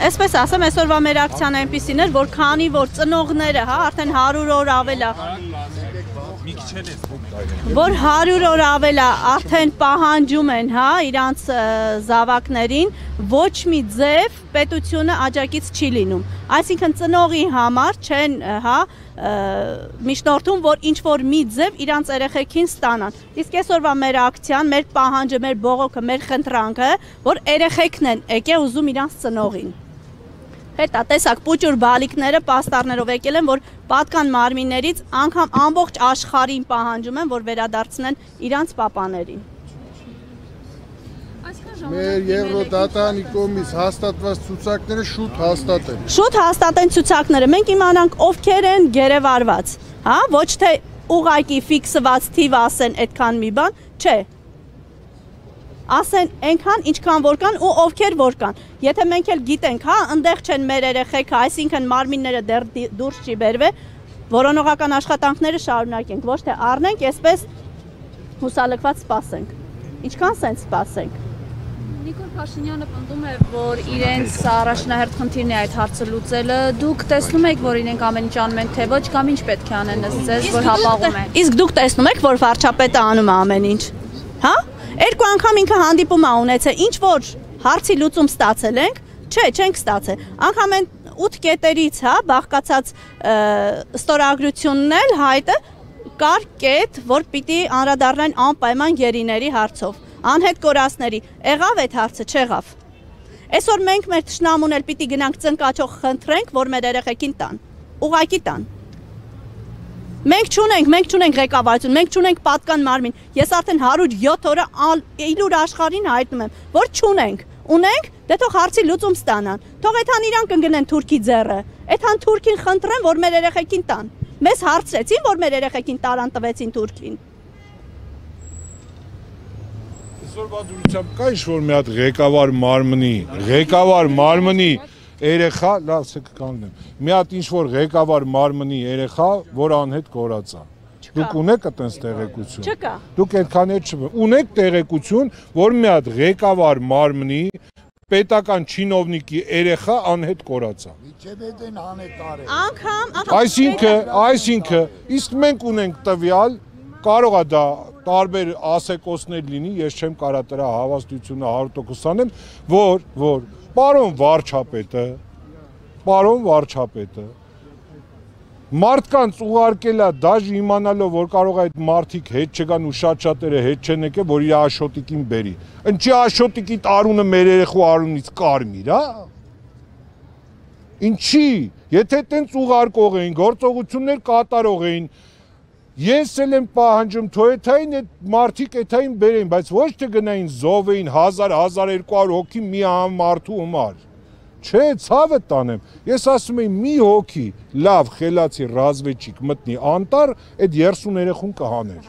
Այսպես ասեմ, այսօրվա մեր ակցիան այնպիսին էր, որ քանի որ ծնողները, հա, արդեն 100 օր ավել է, որ 100 օր ավել է արդեն պահանջում են, հա, իրանց զավակներին, ոչ մի ձև պետությունը աջակից չի լինում։ Այսինքն ծնողի համար չեն, հա, միջնորդում, որ ինչ-որ մի ձև իրանց երեխեքին ստանան։ Իսկ այսօրվա մեր ակցիան, մեր պահանջը, մեր բողոքը, մեր խնդրանքը, որ երեխեքն են եկել ուզում իրանց ծնողին։ Հետա տեսակ պուճուր բալիկները պաստառներով եկել են, որ պատկան մարմիններից անգամ ամբողջ աշխարհին պահանջում են, որ վերադարձնեն իրանց պապաներին։ Մեր Եվրոդատանի կողմից հաստատված ցուցակները շուտ հաստատեն։ Շուտ հաստատեն ցուցակները, մենք իմանանք ովքեր են գերեվարված, հա, ոչ թե ուղակի ֆիքսված թիվ ասեն այդքան մի բան, չէ։ Ասեն այնքան ինչքան որ կան ու ովքեր որ կան։ Եթե մենք էլ գիտենք, հա, այնտեղ չեն մեր երեխեքը, այսինքն մարմինները դեռ դուրս չի բերվել, որոնողական աշխատանքները շարունակենք, ոչ թե առնենք, այսպես հուսալքված սպասենք։ Ինչքան սենց սպասենք։ Նիկոլ Փաշինյանը պնդում է, որ իրենց առաջնահերթ խնդիրն է այդ հարցը լուծելը։ Դուք տեսնում եք, որ իրենք ամեն ինչ անում են, թե ոչ, կամ ինչ պետք է անեն ձեզ, որ հապաղում են։ Իսկ դուք տեսնում եք, որ վարչապետը անում է ամեն ինչ։ Հա? Երկու անգամ ինքը հանդիպում է ունեցել, ինչ որ հարցի լուծում ստացել ենք, չէ, չենք ստացել։ Անգամ այն 8 կետերից, հա, բաղկացած ստորագրությունն էլ հայտը կար կետ, որ պիտի անդրադառնային անպայման գերիների հարցով, անհետ կորածների։ Եղավ այդ հարցը, չեղավ։ Այսօր մենք մեր թշնամուն էլ պիտի գնանք ծնկաչող խնդրենք, որ մեր երեխեքին տան, ուղղակի տան։ Մենք չունենք ղեկավարություն, մենք չունենք պատկան մարմին։ Ես արդեն 107 օրը իլուր աշխարհին հայտնում եմ, որ չունենք։ Ունենք, դե թող հարցի լուծում ստանան։ Թող այդքան իրան կընկնեն Թուրքի ձեռը։ Այդքան Թուրքին խնդրեն, որ մեր երեխեքին տան։ Մեզ հարցրեցին, որ մեր երեխեքին տարան տվեցին Թուրքին։ Այսօրվա դուրսությամբ կա ինչ-որ մի հատ ղեկավար մարմնի երեխա, լավ ցեք կանգնեմ։ Մի հատ ինչ-որ ղեկավար մարմնի երեխա, որ անհետ կորած է։ Դուք ունեք այտենց տեղեկություն։ Չկա։ Դուք այդքան էլ ունեք տեղեկություն, որ մի հատ ղեկավար մարմնի պետական չինովնիկի երեխա անհետ կորած է։ Միջեբեդեն հանետար է։ Այսինքն, իսկ մենք ունենք տվյալ, կարող է դա տարբեր ասեկոսներ լինի, ես չեմ կարող դրա հավաստությունը 100% անեմ, որ պարոն վարչապետը մարդկանց ուղարկել է դաժ իմանալով, որ կարող է այդ մարդիկ հետ չգան ու շատ-շատերը հետ չեն եկել, որ իր աշոտիկին բերի։ Ինչի աշոտիկի տարունը մեր երեխու արունից կարմիր, հա։ Ինչի, եթե տենց ուղարկող էին, գործողություններ կատարող էին, ես էլ եմ պահանջում, թոյեթային այդ մարդիկ էթային բերեին, բայց ոչ թե գնային զովեին 1000-1200 հոգի մի մարդու համար։ Չէ, ցավը տանեմ, ես ասում եմ մի հոգի լավ խելացի ռազմեջիկ մտնի անտառ, այդ 30 երեխուն կհաներ։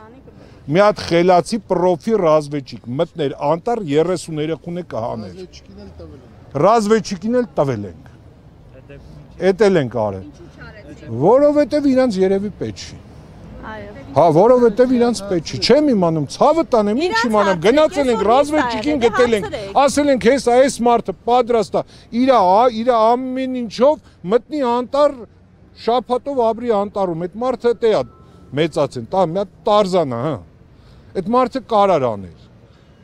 Մի հատ խելացի պրոֆի ռազմեջիկ մտներ անտառ 30 երեխուն է կհաներ։ Ռազմեջիկին էլ տվել ենք։ Էդ էլ ենք արել։ Որովհետև իրանց երևի պետք չի։ Հա, որովհետև իրանց պետք չի, չեմ իմանում, ցավը տանեմ, ինչ իմանամ, գնացել ենք ռազմեջիկին գտել ենք, ասել ենք հեսա այս մարդը պատրաստ է, իր ամեն ինչով մտնի անտառ շաբաթով ապրի անտառում, այդ մարդը դե է մեծացեն, տա մի հատ Տարզան է, հա։ Այդ մարդը կարար աներ։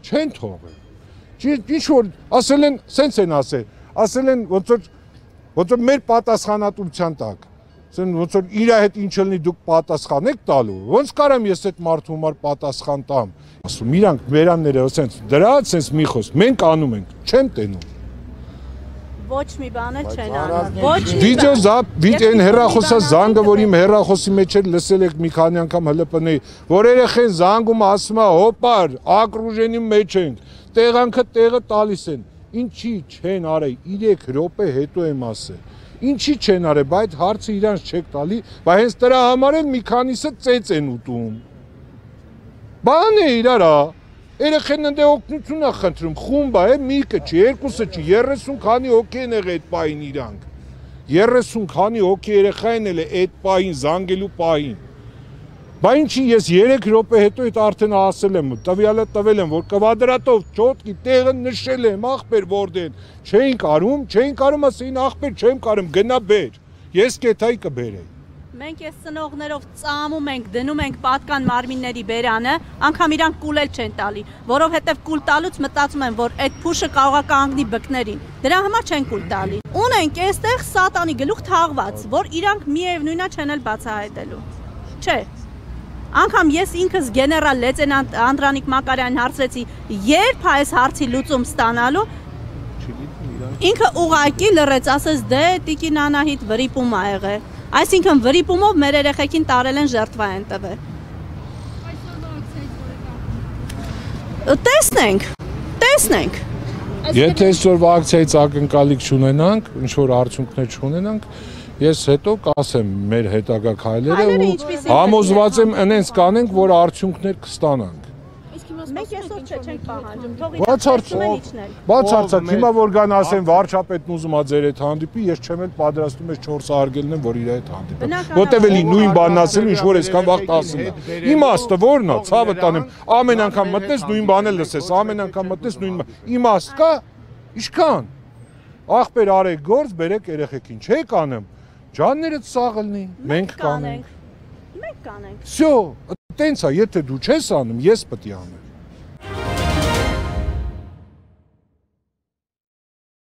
Չեն թողել։ Ինչ որ ասել են, սենց են ասել են ոնց որ մեր պատասխանատվության տակ։ Ոնց որ իր հետ ինչ լինի դուք պատասխան եք տալու, ոնց կարամ ես այդ մարդու համար պատասխան տամ։ Ասում իրանք վերանները ասենց դրա սենց մի խոս, մենք անում ենք, չեմ տենում։ Ոչ մի բան էլ չեն անում։ Ոչ մի վիդեո հեռախոսա զանգը, որ իմ հեռախոսի մեջ էլ լսել եք մի քանի անգամ ՀԼՊՆ-ի, որ երեխեն զանգում ասում է հոպար, ակրուժենի մեջ ենք, տեղանքը տեղը տալիս են։ Ինչի չեն արել, 3 րոպե հետո եմ ասել։ Ինչի չեն արել, բայց հարցը իրանց չեք տալի, բայց հենց դրա համար էլ մի քանիսը ծեծ են ուտում։ Բան է իրար, երեխեն ընդ օգնություն է խնդրում, խումբ է, միկը չի, երկուսը չի, 30 քանի հոգի են եղել այդ պահին իրանք։ 30 քանի հոգի երեխա են էլ այդ պահին, զանգելու պահին։ Բա ինչի ես 3 րոպե հետո այդ արդեն ասել եմ, տվյալը տվել եմ, որ կվադրատով ճոտկի տեղը նշել եմ, ախպեր որտեն, չէին կարում, ասեին ախպեր չեմ կարում, գնա բեր, ես կեթայի կբերեի։ Մենք այս ծնողներով ծամում ենք, դնում ենք պատկան մարմինների բերանը, անգամ իրանք կուլ էլ չեն տալի, որովհետև կուլ տալուց մտածում են, որ այդ փուշը կարող է կանգնի բկներին, դրա համար չեն կուլ տալի։ Ունենք այստեղ սատանի գլուխ թաղված, որ իրանք միևնույնա չեն էլ բացահայտելու։ Չէ։ Անգամ ես ինքս գեներալ լեյտենանտ Անդրանիկ Մակարյանին հարցրեցի, երբ է այս հարցի լուծում ստանալու, ինքը ուղղակի լռեց, ասեց դե տիկին Անահիտ վրիպում ա եղել։ Այսինքն վրիպումով մեր երեխեքին տարել են ժերտվա են տվել։ Տեսնենք։ Եթե այսօրվա ակցիայից ակնկալիք չունենանք, ինչ որ արդյունքներ չունենանք, ես հետո կասեմ մեր հետագա քայլերը ու համոզված եմ այնպես կանենք, որ արդյունքներ կստանանք։ Մենք այսօր չենք պահանջում, թող Բացարձակ, հիմա որ գան ասեն վարչապետն ուզում ա ձեր հետ հանդիպի, ես չեմ էլ պատրաստում ես 4 արգելն եմ, որ իր հետ հանդիպեմ։ Որտեւ էլի նույն բանն ասելու, ինչ որ այսքան վաղ ասում է։ Իմաստը ո՞րն է, ցավը տանեմ, ամեն անգամ մտնես նույն բանը լսես, ամեն անգամ մտնես նույն իմաստ կա, ինչքան։ Ախպեր արեք գործ, բերեք երեխեքին, չեք անեմ։ Ջաններդ սաղլնի, մենք կանենք։ Մենք կանենք։ Всё, տենց է, եթե դու չես անում, ես պետք է անեմ։